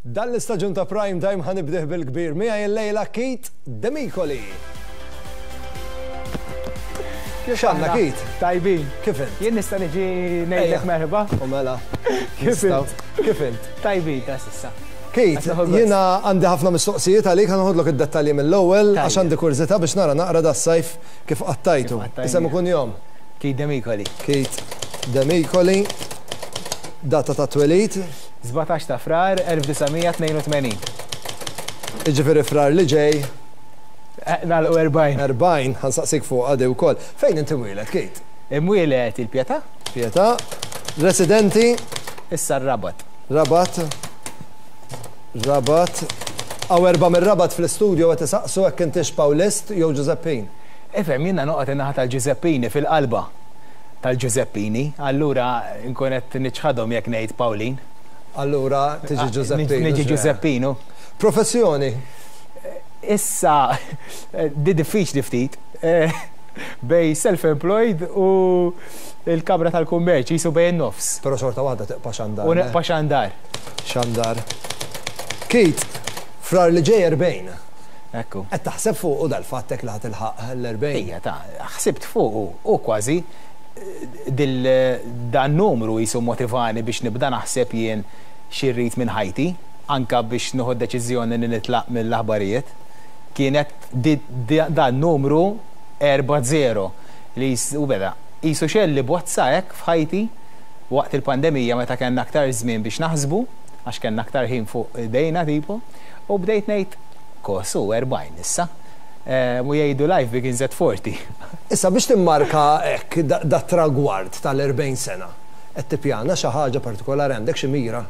Dan l-istaġun ta' Prime Time ħa nibdih bil-kbir miegħi illejla Keith Demicoli. X'għandna Keith? Tajbin. Kif int? Jien nista' niġi ngħidlek merħba. U mela. Kif int? Kif int? Tajbin ta' s'issa. Keith, jiena għandi ħafna mistoqsijiet għalik ħa noħodlok id-dettalji mill-ewwel għax għandi kurżità biex nara naqra das-sajf kif qattajtu. Isem u kunjom? Keith Demicoli. Keith Demicoli. Data ta' twelid? 17 ta' Frar 1982. Jiġifieri Frar li ġej. Nagħlqu 40. 40, ħa nsaqsik fuqha di wkoll. Fejn inti mwieled, Keith? Imwieled il-Pietà. Pietà. Residenti? Issa r-Rabat. Rabat. Rabat. Hawn erbgħa mir-Rabat fl-istudio qed isaqsu hekk intix Pawlist jew Ġużeppin. Ifhem, jiena noqgħod in-naħa tal-Ġużeppini fil-qalba. tal-Ġużeppini, allura nkun qed niċħadhom jekk ngħid Pawlin. Allura tiġi Ġużeppin. Niġi Ġużeppinu. Professjoni? Issa, di diffiċli ftit. Bejn self-employed u l-Kamra tal-Kummerċ, qisu bejn in-nofs. Però xorta waħda tibqa' xandar. U nibqa' xandar. Xandar. Keith, Frar li ġej 40. Ekku. Qed taħseb fuqu dal-fatt hekk li ħa tilħaq l-40? Ejja ta, ħsibt fuqu u kważi dil dan numru qisu mmotivani biex nibda naħseb jien xi rrid minn ħajti, anke biex nieħu d-deċiżjoni li nitlaq mill-aħbarijiet. Kienet di dan numru 4-0 li u beda qisu xegħel li bozza hekk f'ħajti waqt il-pandemija meta kellna aktar żmien biex naħsbu, għax kellna aktar ħin fuq idejna tipo, u bdejt ngħid Kos hu 40 issa. U jgħidu life begins at 40. Issa biex timmarka hekk dat-tragward tal-40 sena, qed tippjana xi ħaġa partikolari, għandek xi mira?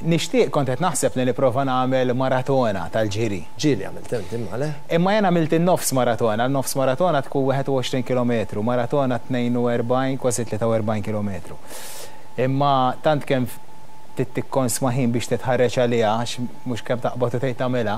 Nixtieq, kont qed naħseb li nipprova nagħmel maratona tal-ġiri. Ġieli għamilt inti imma, le? Imma jien għamilt in-nofs maratona, n-nofs maratona tkun 21 kilometru, maratona 42, kważi 43 kilometru. Imma tant kemm trid tikkonsma ħin biex titħarreġ għaliha għax mhux kemm taqbad u tgħid tagħmilha,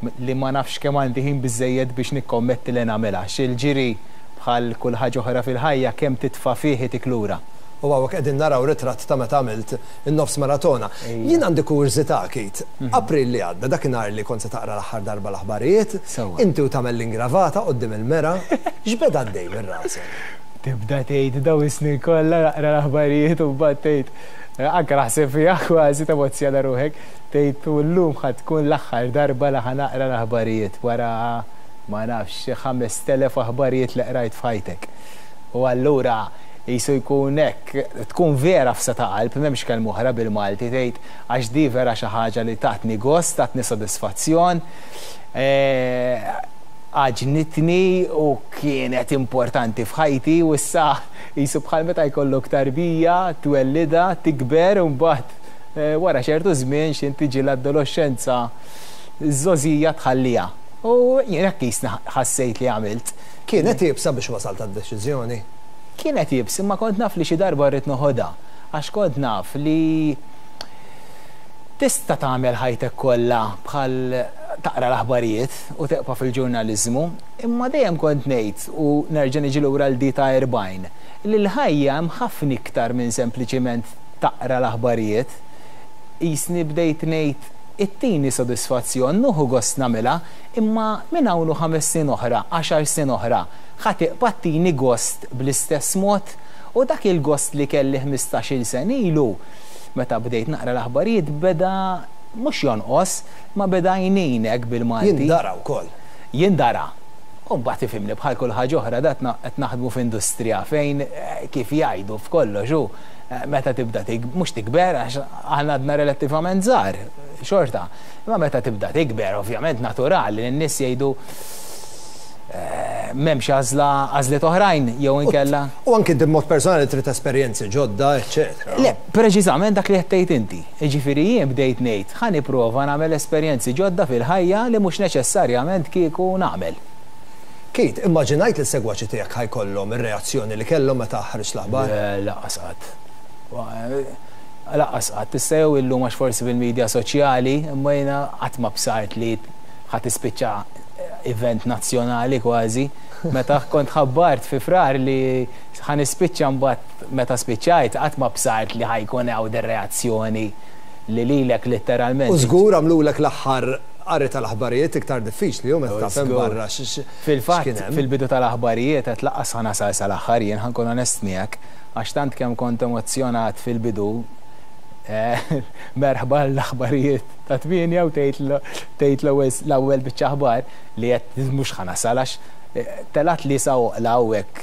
li ma nafx kemm għandi ħin biżżejjed biex nikkommetti li nagħmilha. Għax il-ġiri bħal kull ħaġa oħra fil-ħajja kemm titfa' fih itik lura. U hawnhekk qegħdin naraw ritratt ta' meta għamilt in-nofs maratona. Jien għandi kurżità, Keith. April li għadda, dakinhar li kont se taqra l-aħħar darba l-aħbarijiet, inti u tagħmel l-ingravata quddiem il-mera, x'beda għaddej minn rasek? Tibda tgħid dawn is-snin kollha naqra l-aħbarijiet u mbagħad tgħid, Anke naħseb fiha kważi temozzjona ruħek, tgħid u llum ħa tkun l-aħħar darba li ħa naqra l-aħbarijiet wara ma nafx xi 5000 aħbarijiet li qrajt f'ħajtek. U allura qisu jkun hekk, tkun vera f'sa ta' qalb, m'hemmx kelma oħra bil-Malti, tgħid għax di vera xi ħaġa li tatni gost, tatni sodisfazzjon, għaġnitni u kienet importanti f'ħajti u issa Qisu bħal meta jkollok tarbija, twellidha, tikber u mbagħad wara ċertu żmien x'int tiġi l-adoloxxenza, iż-żgħożija tħalliha. U jien hekk qisni ħassejt li għamilt. Kienet iebsa biex wasalt għad-deċiżjoni? Kienet iebsa imma kont naf li xi darba rrid noħodha għax kont naf li tista' tagħmel ħajtek kollha bħal taqra l-aħbarijiet u tibqa' fil-ġurnaliżmu imma dejjem kont ngħid u nerġa' niġi lura għal di ta' 40, li l-ħajja hemm ħafna iktar minn sempliċiment taqra l-aħbarijiet. Qisni bdejt ngħid ittini sodisfazzjon, nuħu gost nagħmilha, imma minn hawn u ħames snin oħra, għaxar snin oħra, ħa tibqa' ttini gost bl-istess mod? U dak il-gost li kelli ħmistax-il sena ilu, meta bdejt naqra l-aħbarijiet, beda mhux jonqos, imma beda jnin hekk bil-Malti. Jindara wkoll. Jindara. U mbagħad ifhimni bħal kull ħaġa oħra dat qed naħdmu f'industrija fejn kif jgħidu f'kollox hu meta tibda mhux tikber għax aħna għadna relattivament żgħar xorta, imma meta tibda tikber ovvjament naturali li n-nies jgħidu m'hemmx għażla għażliet oħrajn jew inkella. U anki inti b'mod personali trid esperjenzi ġodda, eċċetera. Le, preċiżament dak li qed tgħid inti. Jiġifieri jien bdejt ngħid ħa nipprova nagħmel esperjenzi ġodda fil-ħajja li mhux neċessarjament kieku nagħmel. Keith, immaġinajt li s-segwaċi tiegħek ħa jkollhom ir-reazzjoni li kellhom meta ħriġt l-aħbar? Le, lanqas qatt. Lanqas qatt. Issa jew illum għax forsi bil-media soċjali, imma jiena qatt ma bsart li ħa tispiċċa event nazzjonali kważi. Meta kont ħabbart fi Frar li ħa nispiċċa mbagħad meta spiċċajt qatt ma bsart li ħa jkun hawn dir-reazzjoni. li lilek litteralment. U żgur għamlulek l-aħħar qari tal-aħbarijiet iktar diffiċli hu meta taf hemm barra x'kien hemm. Fil-fatt, fil-bidu tal-aħbarijiet għedt lanqas ħa nasal sal-aħħar jien, ħa nkun onest miegħek, għax tant kemm kont emozzjonat fil-bidu, merħba l-aħbarijiet ta' tmienja u tgħid tgħid l-ewwel l-ewwel biċċa aħbar li għedt mhux ħa nasal għax telgħatli sa għoqla hawnhekk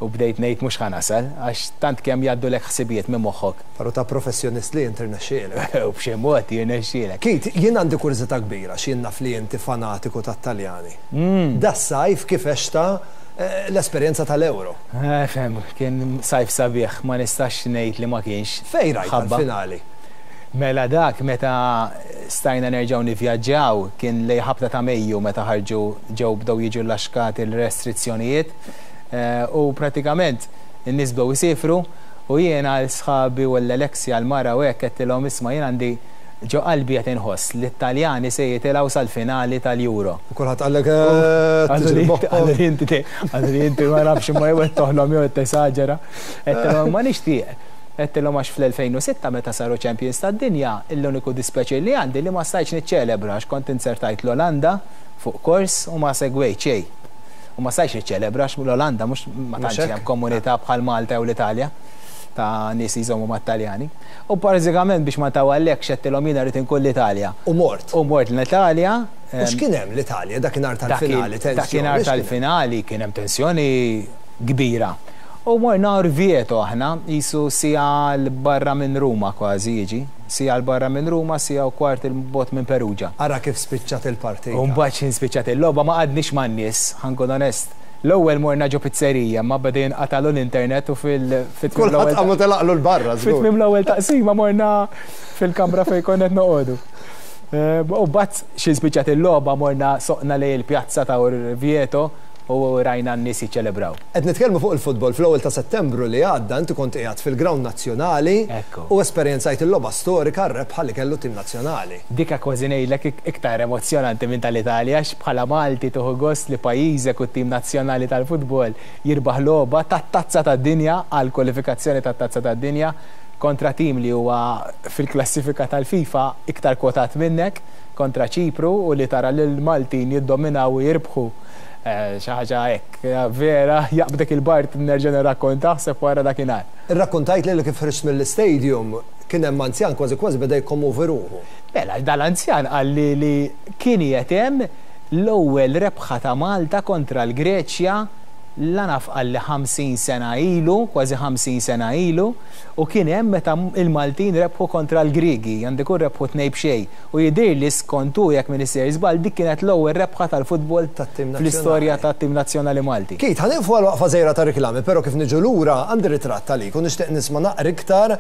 u bdejt ngħid mhux ħa nasal għax tant kemm jgħaddulek ħsibijiet minn moħħok. Però ta' professjonist li int irnexxielek. U b'xi mod jirnexxielek. Keith, jien għandi kurżità kbira għax jien naf li inti fanatiku tat-Taljani. Das-sajf kif għextha l-esperjenza tal-Euro? Fhem, kien sajf sabiħ, ma nistax ngħid li ma kienx. Fejn rajtha l-finali? Mela dak meta stajna nerġgħu nivvjaġġaw kien lejn ħabta ta' Mejju meta ħarġu ġew bdew jiġu llaxkati l-restrizzjonijiet u pratikament in-nies bdew isiefru u jiena 'l sħabi u 'l Alexia l-mara u hekk għedtilhom isma' jien għandi ġo qalbi qed inħoss li t-Taljani se jitilgħu sal-finali tal-Euro. U kulħadd qallek eeh tiġri b'moħħok. Qaluli inti qaluli inti ma nafx imma jew qed toħlom jew qed tesaġera. Għedtilhom imma nixtieq. Għedtilhom għax fl-2006 meta saru champions tad-dinja, l-uniku dispjaċir li għandi li ma stajtx niċċelebra għax kont inzertajt l-Olanda fuq kors u ma segwejt xejn. U ma stajtx niċċelebra għax l-Olanda mhux ma tantx hemm komunità bħal Malta jew l-Italja ta' nies li jżommu mat-Taljani. U bażikament biex ma ntawwallekx għedtilhom jiena rrid inkun l-Italja. U mort. U mort l-Italja. U x'kien hemm l-Italja dakinhar tal-finali, tensjoni? Dakinhar tal-finali kien hemm tensjoni kbira. U morna Orvieto aħna, qisu siegħa 'l barra minn Ruma kważi jiġi. Siegħa 'l barra minn Ruma, siegħa u kwart 'il bogħod minn Perugia. Ara kif spiċċat il-partita. U mbagħad x'ħin spiċċat il-logħba ma qgħadniex man-nies, ħa nkun onest. L-ewwel morna ġo pizzerija imma beda jinqatagħlu l-internet u fil fi tmiem l-ewwel Kulħadd qam u telaqlu 'l barra żgur. Fi tmiem l-ewwel taqsima morna fil-kamra fejn konna qed noqogħdu. U mbagħad x'ħin spiċċat il-logħba morna soqna lejn il-pjazza ta' Orvieto u rajna n-nies jiċċelebraw. Qed nitkellmu fuq il-futbol, fl-ewwel ta' Settembru li għadda inti kont qiegħed fil-grawnd nazzjonali u esperjenzajt il-logħba storika r-rebħa li kellu t-tim nazzjonali. Dika kważi ngħidlek iktar emozzjonanti minn tal-Italja għax bħala Malti tieħu gost li pajjiżek u t-tim nazzjonali tal-futbol jirbaħ logħba tat-Tazza tad-Dinja għall-kwalifikazzjoni tat-Tazza tad-Dinja kontra tim li huwa fil-klassifika tal-FIFA iktar kwotat minnek, kontra Ċipru u li tara lill-Maltin jiddominaw u jirbħu. Xi ħaġa hekk, vera, jaqbdek il-bard nerġa' nirrakkonta, aħseb wara dakinhar. Irrakkontajtli li kif ħriġt mill-istadium kien hemm anzjan kważi kważi beda jikkommovi ruħu. Mela, dal-anzjan qalli li kien qiegħed hemm l-ewwel rebħa ta' Malta kontra l-Greċja, la naf qalli 50 sena ilu, kważi 50 sena ilu, u kien hemm meta l-Maltin rebħu kontra l-Griegi, għandu jkun rebħu tnejn b'xejn. U jidhirli skont hu, jekk m'iniex sejjer żball, dik kienet l-ewwel rebħa tal-futbol fl-istorja tat-tim nazzjonali Malti. Keith, ħa nieqfu għal waqfa żgħira ta' riklami, però kif niġu lura għandi ritratt għalik u nixtieq nisma' naqra iktar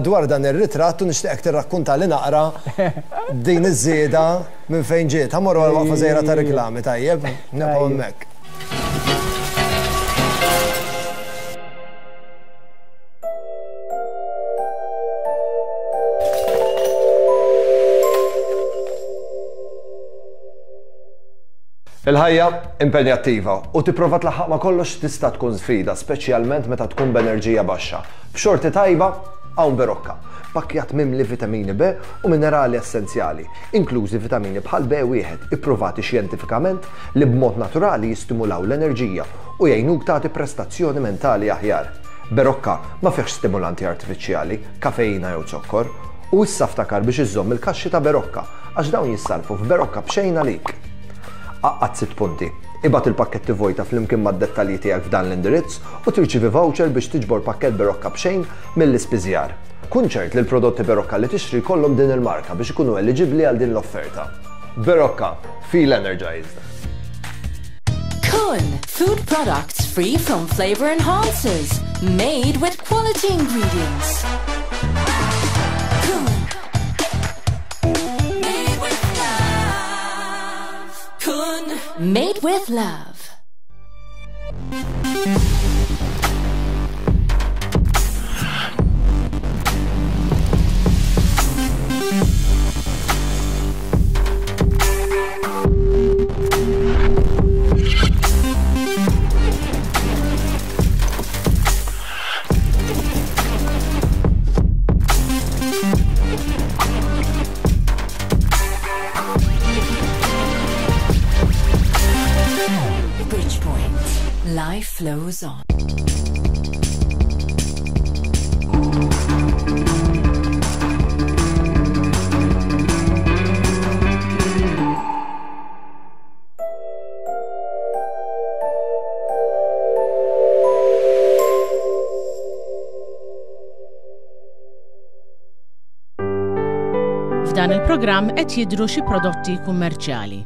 dwar dan ir-ritratt u nixtieqek tirrakkuntali naqra din iż-żieda minn fejn ġiet. Ħa mmorru għal waqfa żgħira ta' riklami, tajjeb? Nibqgħu hemmhekk. Il-ħajja impenjattiva u tipprova tlaħħaq ma' kollox tista' tkun sfida, speċjalment meta tkun b'enerġija baxxa. B'xorti tajba, hawn Berocca, pakkjat mimli vitamini B u minerali essenzjali, inklużi vitamini bħal B1 ippruvati xjentifikament li b'mod naturali jistimulaw l-enerġija u jgħinuk tagħti prestazzjoni mentali aħjar. Berocca ma fihx stimulanti artifiċjali, kafeina jew zokkor. U issa ftakar biex iżżomm il-kaxxi ta' Berocca għax dawn jissarrfu f'Berocca b'xejn għalik. Għaqqad sitt punti. Ibgħat il-pakketti vojta flimkien mad-dettalji tiegħek f'dan l-indirizz u tirċievi voucher biex tiġbor pakkett Berocca b'xejn mill-ispiżjar. Kun ċert li l-prodotti Berocca li tixtri jkollhom din il-marka biex ikunu eliġibbli għal din l-offerta. Berocca, feel energized! Kun, food products free from flavor enhancers, made with quality ingredients. Kun. Made with love. Kun. Made with love. Life flows on. F'dan il-programm qed jidhru xi prodotti kummerċjali.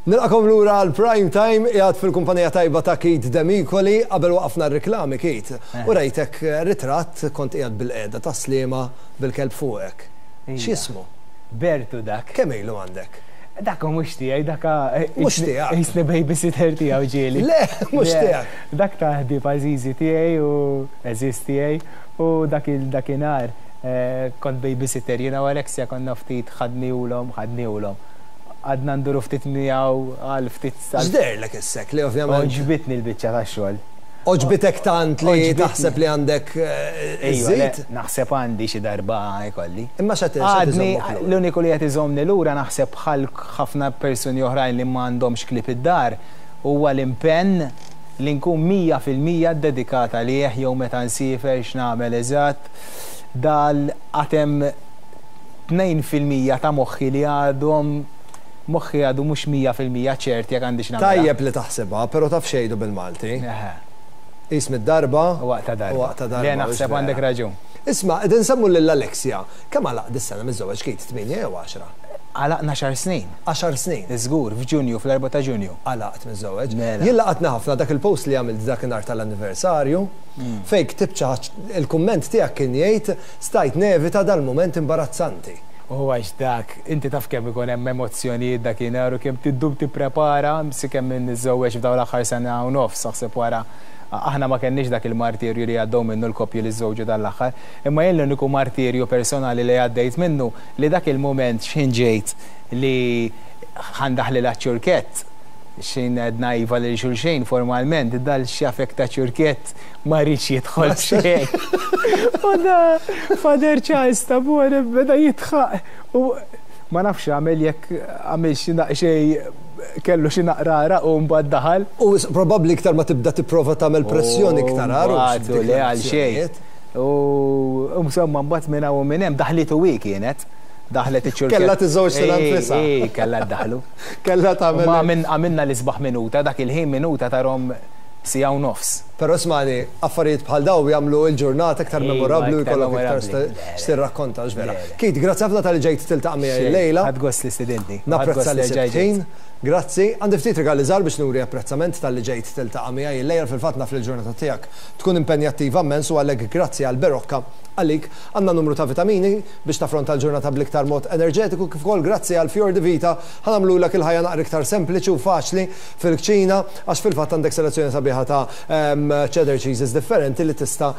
Nilqakom lura għal Prime Time qiegħed fil-kumpanija tajba ta' Keith Demicoli qabel waqafna r-riklami Keith. Eh. U rajtek eh, ritratt kont qiegħed bil-qiegħda ta' Sliema bil-kelb fuqek. X'jismu? Bertu dak. Kemm ilu għandek? Dak mhux tiegħi, dak eh, mhux tiegħek. Jisni babysitter tiegħu ġieli. Le, mhux tiegħek. Dak ta' ħbieb għażiżi tiegħi u għeżież tiegħi u dak il-dakinhar Kont babysitter jiena u Alexia konna ftit ħadnihulhom, ħadnihulhom. Qgħadna nduru ftit miegħu għal ftit. X'deherlek issek li ovvjament. Għoġbitni l-biċċa tax-xogħol. Għoġbitek tant li taħseb li għandek iżżid? Naħseb għandi xi darba jkolli. Imma x'qed iżommok lura? L-uniku li qed iżommni lura naħseb bħal ħafna persuni oħrajn li m'għandhomx klieb id-dar huwa l-impenn li nkun 100% ddedikat għalih jew meta nsiefer x'nagħmel eżatt. Dal għad hemm 2% ta' moħħi li għadhom moħħi għadu mhux 100% ċert jekk għandix nagħmilha. Tajjeb li taħsibha, però taf x'jgħidu bil-Malti? Eħe. Qis mid-darba U waqta' darba. U waqta' darba. Le naħseb għandek raġun. Isma' qegħdin nsemmu lil Alexia. Kemm għalaq dis-sena miżżewweġ Keith? Tmienja jew għaxra? Għalaqna għaxar snin. Għaxar snin? Żgur, f'Ġunju, fl-erbgħa ta' Ġunju. Għalaqt miżżewweġ. Mela. Jien laqatni ħafna dak il-post li għamilt dakinhar tal-anniversarju. Fejn ktibt xi ħaġ, il-kumment tiegħek kien jgħid, stajt nevita dal-mument imbarazzanti. U għax dak, inti taf kemm ikun hemm emozzjonijiet dakinhar u kemm trid ddum tipprepara, sakemm niżżewweġ f'dawn l-aħħar sena u nofs, aħseb wara, aħna ma kellniex dak il-martirju li għaddew minnu l-koppji li żżewġu dan l-aħħar. Imma jien l-uniku martirju personali li għaddejt minnu li dak il-mument x'ħin ġejt li ħa ndaħħlilha ċ-ċurkett, Xejn għedna iva lil xulxejn formalment, dal-xafek ta' ċurkett ma riedx jidħol b'xejn. U da Father Charles Tabone beda jidħaq u ma nafx x'għamel jekk għamilx xi daqsxejn kellu xi naqra għaraq u mbagħad daħal. U probabbli iktar ma tibda tipprova tagħmel pressjoni iktar agħar u Mbagħad u le għal xejn. U insomma mbagħad minn hawn u minn hemm daħlitu hi kienet. Daħlet iċ-ċurkett. Kellha tiżżewweġ lilha nfisha. Ii, kellha ddaħħlu. Kellha tagħmel. Imma għamilna l-isbaħ minuta, dak il-ħin minuta tarhom siegħa u nofs. Però ismagħni, affarijiet bħal dawn jagħmlu l-ġurnata iktar memorabbli u jkollok iktar x'tirrakkonta, hux vera? Keith, grazzi ħafna talli ġejt tiltaqa' miegħi llejla. Ħadt gost li stidintni. Napprezza li sibt ħin. Grazzi. Għandi ftit rigali żgħar biex nuri apprezzament talli ġejt tiltaqa' miegħi llejla. Fil-fatt naf li l-ġurnata tiegħek tkun impenjattiva mmens u għalhekk grazzi għall-berokka għalik. Għandna numru ta' vitamini biex taffronta l-ġurnata bl-iktar mod enerġetiku kif ukoll grazzi għal Fior di Vita ħa nagħmlulek il-ħajja naqra iktar sempliċi u faċli fil-kċina għax fil-fatt għandek selezzjoni sabiħa ta' cheddar cheeses differenti li tista'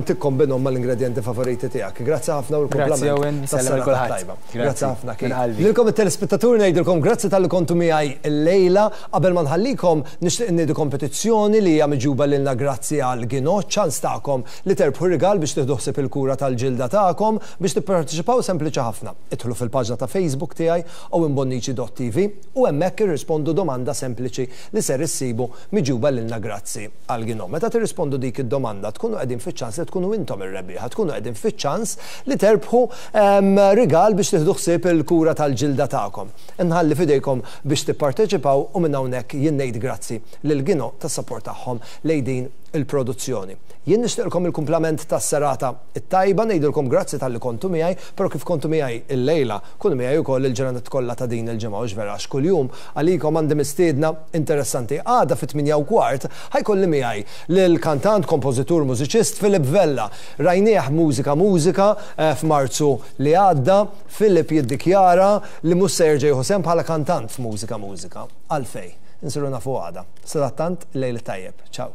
tikkombinhom mal-ingredjenti favoriti tiegħek. Grazzi ħafna u l-kumplament tas-serata t-tajba. Grazzi ħafna Keith. Lilkom it-telespettaturi ngħidilkom grazzi talli kontu miegħi llejla. Qabel ma nħallikom nixtieq inniedi kompetizzjoni li hija miġjuba lilna grazzi għal Ginò, ċans tagħkom li terbħu rigal biex tieħdu ħsieb il-kura tal-ġilda tagħkom. Biex tipparteċipaw sempliċi ħafna. Idħlu fil-paġna ta' Facebook tiegħi owenbonnici.tv u hemmhekk irrispondu domanda sempliċi li ser issibu miġjuba lilna grazzi għal Gino. Meta tirrispondu dik id-domanda tkunu qegħdin fiċ-ċans li tkunu intom ir-rebbieħa, tkunu qegħdin fiċ-ċans li terbħu rigal biex tieħdu ħsieb il-kura tal-ġilda tagħkom. Inħalli f'idejkom biex tipparteċipaw u minn hawnhekk jien ngħid grazzi lil Gino tas-sapport tagħhom lejn din il-produzzjoni. Jien nixtieqlkom il-kumplament tas-serata t-tajba, ngħidilkom grazzi talli kontu miegħi, però kif kontu miegħi illejla, kunu miegħi wkoll il-ġranet kollha ta' din il-ġimgħa, hux vera għax kuljum għalikom għandi mistiedna interessanti. Għada fit-tmienja u kwart ħa jkolli miegħi lill-kantant, kompożitur, mużiċist Philip Vella. Rajnieh Mużika Mużika f'Marzu li għadda. Philip jiddikjara li mhux se jerġa' jieħu sehem bħala kantant f'Mużika Mużika. Għalfejn? Insiru nafu għada. Sadattant, il-lejl it-tajjeb. Ciao.